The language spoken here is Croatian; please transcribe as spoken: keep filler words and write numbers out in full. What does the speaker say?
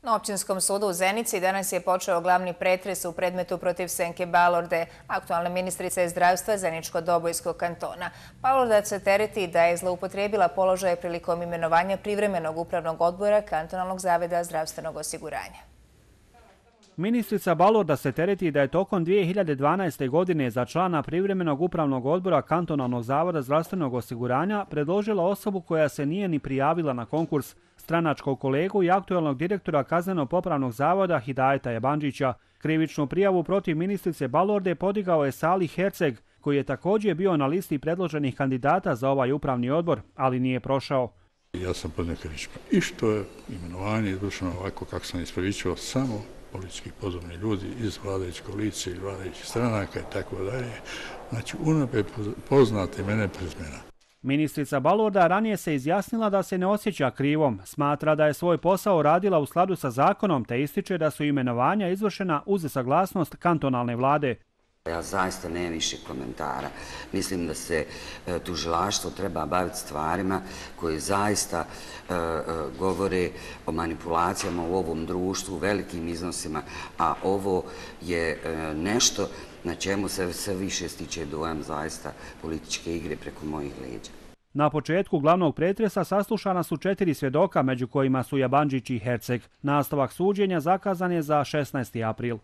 Na Općinskom sudu u Zenici danas je počeo glavni pretres u predmetu protiv Senke Balorde, aktualne ministrice zdravstva Zeničko-Dobojskog kantona. Balorda se tereti da je zloupotrijebila položaj prilikom imenovanja privremenog upravnog odbora Kantonalnog zavoda zdravstvenog osiguranja. Ministrica Balorda se tereti da je tokom dvije hiljade dvanaeste. godine za člana privremenog upravnog odbora Kantonalnog zavoda zdravstvenog osiguranja predložila osobu koja se nije ni prijavila na konkurs, stranačkog kolegu i aktualnog direktora Kazneno-popravnog zavoda Hidajeta Jabanđića. Krivičnu prijavu protiv ministrice Balorde podigao je Salih Herceg, koji je također bio na listi predloženih kandidata za ovaj upravni odbor, ali nije prošao. Ja sam podnio krivičnu. I što je imenovanje izvršeno ovako kako sam ispravičio, samo politički podobni ljudi iz vladajuće koalicije ili vladajućih stranaka i tako dalje. Znači, unaprijed poznate mene prezmena. Ministrica Balorda ranije se izjasnila da se ne osjeća krivom, smatra da je svoj posao radila u skladu sa zakonom te ističe da su imenovanja izvršena uz saglasnost kantonalne vlade. Ja zaista nemam više komentara. Mislim da se e, tužilaštvo treba baviti stvarima koje zaista e, e, govore o manipulacijama u ovom društvu, velikim iznosima, a ovo je e, nešto na čemu se sve više stiče dojam zaista političke igre preko mojih leđa. Na početku glavnog pretresa saslušana su četiri svjedoka, među kojima su Jabanđić i Herceg. Nastavak suđenja zakazan je za šesnaesti april.